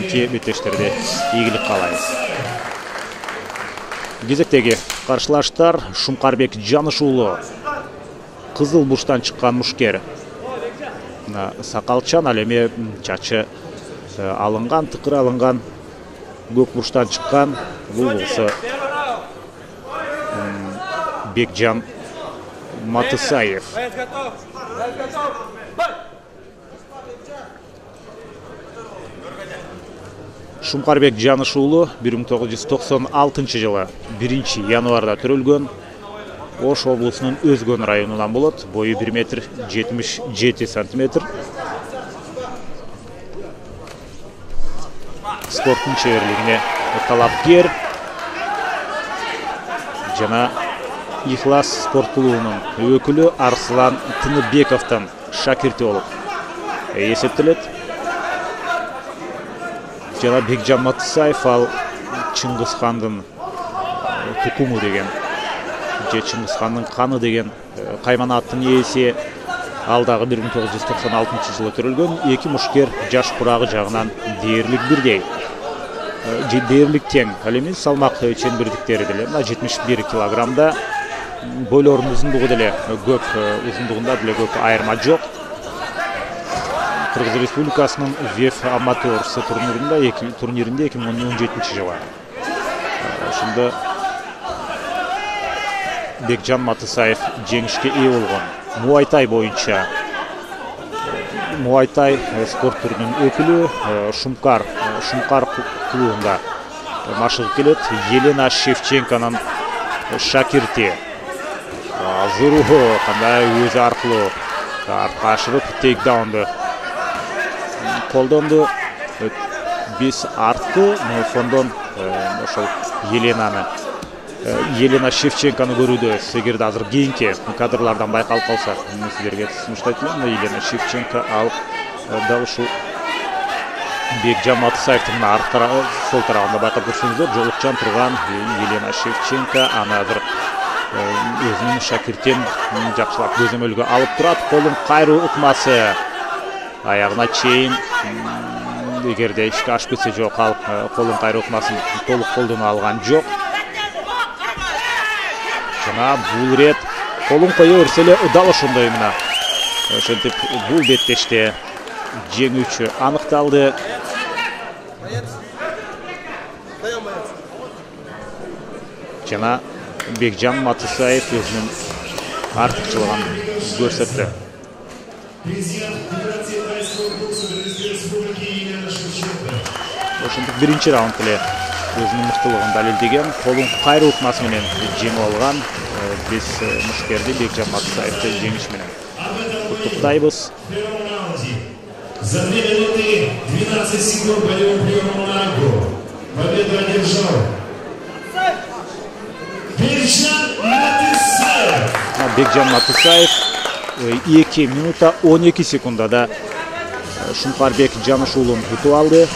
эки беттештерде ийгилик каалайбыз. Кезектеги каршылаштар Шумкарбек Жаныш уулу кызыл бурчтан чыккан мушкер. Сакалчан, ал эми чачы алынган, тыкыр алынган, көк бурчтан чыккан. Бул болсо Бекжан Матысаев. Шумкарбек Жаныш уулу 1996 жылы 1 январда төрөлгөн. Ош облусунун Өзгөн районунан болот. Бою 1 метр 77 сантиметр. Спорттун чеберлигине талапкер жана Ихлас спорт клубунун өкүлү Арслан Тыныбековдун шакирти болуп эсептелет. Жана Бекжан Матысаев ал Чыңгызхандын тукуму деген, же Чыңгызхандын каны деген кайманаттын ээси. Ал дагы 1996 жылы төрөлгөн. Эки мушкер жаш курагы жагынан дээрлик бирдей. Дээрлик тең. Ал эми салмак чембердиктери деле 71 килограммда. Бойлордун узундугу деле көп, узундугунда деле көп айырма жок. Кыргыз Республикасынын ВЕФ Аматорс турниринде 2017 жылы. Ошондо Бекжан Матысаев жеңишке ээ болгон. Муайтай боюнча Муайтай спорт түрүнүн өкүлү Шумкар клубунда машыгып келет. Елена Шевченконун шакирти. Зуруху кандай өзү аркылуу артка ашырып тейкдаунду колдонду. Биз артты фондон ошол Елена Шевченкону көрүүдөбүз. Эгерде азыр кийинки кадрлардан байкалып калса, мен силерге сунуштайт элем. Елена Шевченко ал дал ушул Бекжан Матысаевдин сол тарабында байкап көрсөңүздөр, жолукчан турган Елена Шевченко аны азыр өзүнүн шакиртин жакшылап көзөмөлгө алып турат. Колун кайруу ыкмасы аягына чейин, эгерде ишке ашып кетсе жок, ал колун кайруу ыкмасын толук колдоно алган жок. Жана бул рет колун кое берсе эле дал ошондой мына. Ошентип бул беттеште жеңүүчү аныкталды. Жана Бекжан Матысаев өзүнүн артыкчылыгын көрсөттү. Ошентип биринчи раунд эле өзүнүн мыктылыгын далилдеген, колун кайруу ыкмасы менен жеңип алган биз мушкерди Бекжан Матысаевди жеңиш менен куттуктайбыз. За 2 минуты 12 секунд боевым приемом на ногу. Победу одержал Бекжан Матысаев 2 минута 12 секундада Шумкарбек Жаныш уулун утуп алды.